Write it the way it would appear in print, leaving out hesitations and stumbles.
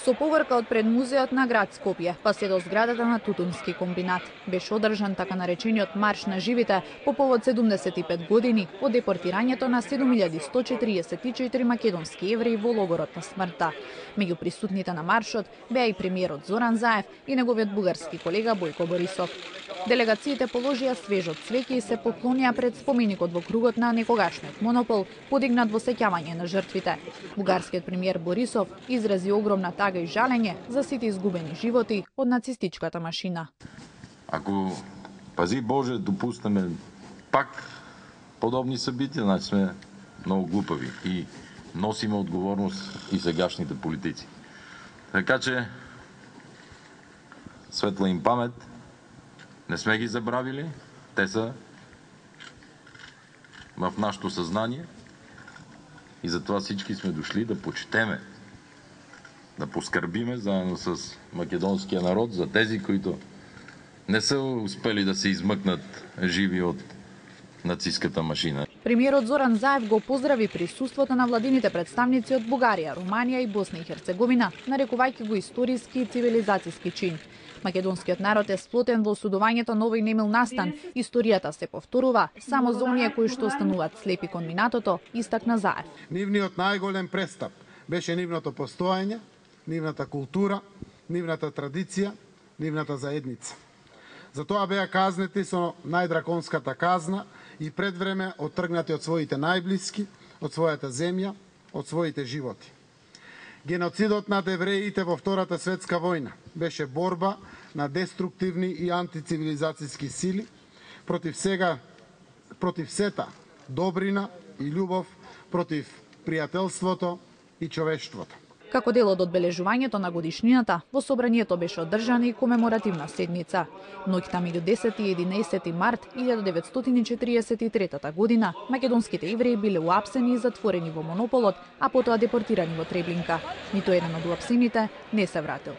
Со поврка од пред музеот на град Скопје, па се до зградата на Тутунски комбинат, беше одржан така наречениот марш на живите по повод 75 години од депортирањето на 7144 македонски евреи во логорот на смртта. Меѓу присутните на маршот беа и премиерот Зоран Заев и неговиот бугарски колега Бојко Борисов. Делегациите положија свежот цвеќе и се поклонија пред споменикот во кругот на некогашниот монопол, подигнат во сеќавање на жртвите. Бугарскиот премиер Борисов изрази огромна тага и жалење за сите изгубени животи од нацистичката машина. Ако, пази Боже, допуснеме пак подобни собитија, значи сме многу глупави и носиме одговорност и сегашните политици. Така че, светла им памет, не сме ги забравили, те са в нашето съзнание и затова всички сме дошли да почетеме, да поскърбиме заедно с македонския народ за тези, които не са успели да се измъкнат живи от нацистката машина. Премиерот Зоран Заев го поздрави присуството на владините представници од Бугарија, Руманија и Босна и Херцеговина, нарекувајќи го историски и цивилизацијски чин. Македонскиот народ е сплотен во осудувањето на овој немил настан. Историјата се повторува само за оние кои што остануваат слепи кон минатото, истакна Заев. Нивниот најголем престап беше нивното постоење, нивната култура, нивната традиција, нивната заедница. Затоа беа казнети со најдраконската казна и пред време оттргнати од своите најблиски, од својата земја, од своите животи. Геноцидот над евреите во Втората светска војна беше борба на деструктивни и антицивилизацијски сили против сета добрина и љубов, против пријателството и човештвото. Како дел од одбележувањето на годишнината, во собранието беше одржана и комеморативна седница. Ноќта меѓу 10 и 11 март 1943 година, македонските евреи биле уапсени и затворени во монополот, а потоа депортирани во Треблинка. Ниту еден од уапсените не се вратил.